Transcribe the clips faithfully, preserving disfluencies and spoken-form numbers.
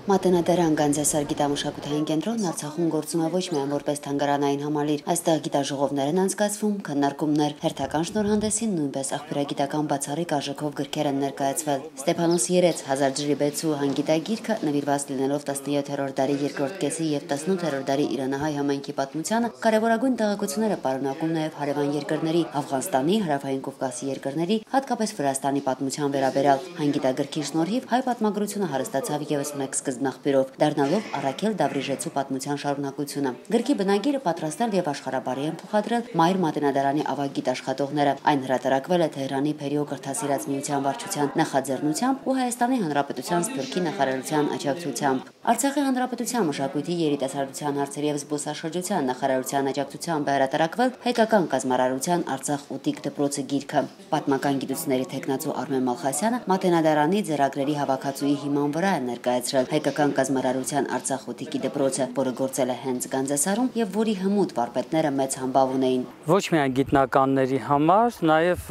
Մատենադարան Գանձասար գիտամշակութային կենտրոնն Արցախում գործում է ոչ միայն որպես թանգարանային համալիր, այստեղ գիտաժողովներ են անցկացվում, քննարկումներ, հերթական շնորհանդեսին նույնպես աղբյուրագիտական բացառիկ արժեքով գրքեր են ներկայացվել։ Ստեփանոս երեց հազար ջրի բեցու հանգիտագիրքը նվիրված լինելով տասնյոթերորդ դարի երկրորդ կեսի եւ տասնութերորդ դարի իրանահայ համայնքի պատմությանը, կարևորագույն տեղեկությունները պարունակում նաև հարևան երկրների Աֆղանստանի, Հարավային Կովկասի երկրների, հատկապես Վրաստանի պատմության վերաբերյալ։ Հանգիտագրքի շնորհիվ հայ պատմագրությունը հարստացավ ևս մեկ սկզբնաղբյուրով, դառնալով Արաքել Դավրիժեցու պատմության շարունակությունը։ Գրքի բնագիրը պատրաստել եւ աշխարհաբարի են փոխադրել Մայր Մատենադարանի ավագ գիտաշխատողները։ Այն հրատարակվել է Թեհրանի Փերիո կրթասիրած միության վարչության նախաձեռնությամբ ու Հայաստանի Հանրապետության Սփյուռքի նախարարության աջակցությամբ։ Արցախի Հանրապետության մշակույթի, երիտասարդության հարցերի եւ զբոսաշրջության նախարարության աջակցությամբ հրատարակվել հայկական կազմարարության Արցախ ուտիկ դպրոցը գիրքը։ Պատմական գիտությունների թեկնածու Արմեն Մալխասյանը Մատենադարանի ձեռագրերի հավաքածուի հիման վրա է ներկայացրել հայկական կազմարարության Արցախ ուտիկի դպրոցը, որը գործել է հենց Գանձասարում եւ որի հմուտ վարպետները մեծ համբավ ունեին։ Ոչ միայն գիտնականների համար, նաեւ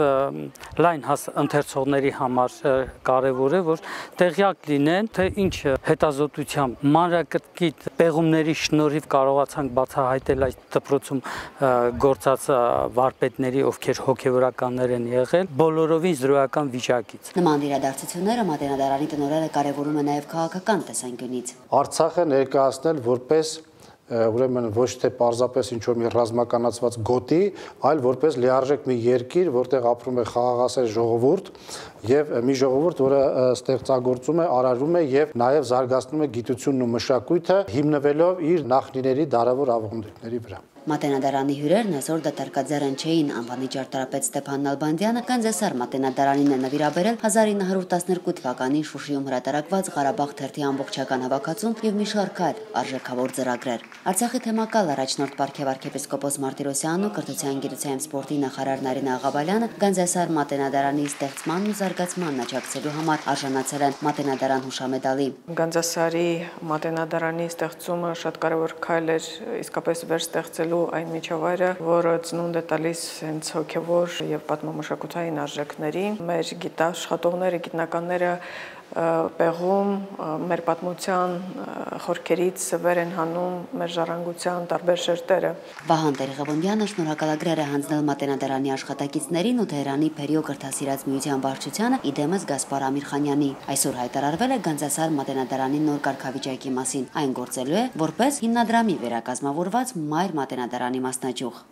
լայն ընթերցողների համար կարեւոր է, որ տեղյակ լինեն, թե ինչ հետազոտությամբ մանրակրկիտ պեղումների շնորհիվ կարողացանք բացահայտել այդ դպրոցում գործած վարպետների, ովքեր հոգեվորականներ են եղել, բոլորովին զրոյական վիճակից։ Նման իրադարձությունները Մատենադարանի տնօրենը կարևորում է նաև քաղաքական տեսանկյունից։ Արցախը ներկայացնել որպես ուրեմն ոչ թե պարզապես ինչ-որ մի ռազմականացված գոտի, այլ որպես լիարժեք մի երկիր, որտեղ ապրում է խաղաղասեր ժողովուրդ եւ մի ժողովուրդ, որը ստեղծագործում է, արարում է եւ նաեւ զարգացնում է գիտությունն ու մշակույթը, հիմնվելով իր նախնիների դարավոր ավանդույթների վրա։ Մատենադարանի հյուրերն այսօր դատարկաձեռն չէին, անվանի ճարտարապետ Ստեփան Նալբանդյանը Գանձասար Մատենադարանին է նվիրաբերել հազար ինը հարյուր տասներկու թվականին Շուշիում հրատարակված Ղարաբաղ թերթի ամբողջական հավաքածուն եւ մի շարք այլ արժեքավոր ծրագրեր։ Արցախի թեմակալ առաջնորդ Պարքև arczepiskopos Մարտիրոսյանն ու կրթության, գիտության եւ սպորտի նախարար Նարինե Աղաբալյանը Գանձասար Մատենադարանի ստեղծմանն ու զարգացմանն աջակցելու համար արժանացել են Մատենադարան հուշամեդալի։ Գանձասարի Մատենադարանի ստեղծումը շատ կարևոր քայլ էր իսկապես վերստեղծելու այն միջավայրը, որը ծնունդ է տալիս հենց հոգևոր եւ պատմամշակութային արժեքների։ Մեր գիտաշխատողները, գիտնականները պեղում մեր պատմության խորքերից վեր են հանում մեր ժառանգության տարբեր շերտերը։ Վահան Տեր-Ղևոնդյանը շնորհակալագրեր է հանձնել Մատենադարանի աշխատակիցներին ու Թեհրանի Փերիո կրթասիրած միության վարչությանը, իդեմս Գասպար Ամիրխանյանի։ Այսօր հայտարարվել է Գանձասար Մատենադարանի նոր կարգավիճակի մասին։ Այն գործելու է որպես հիմնադրամի վերակազմավորված Մայր Մատենադարանի մասնաճյուղ։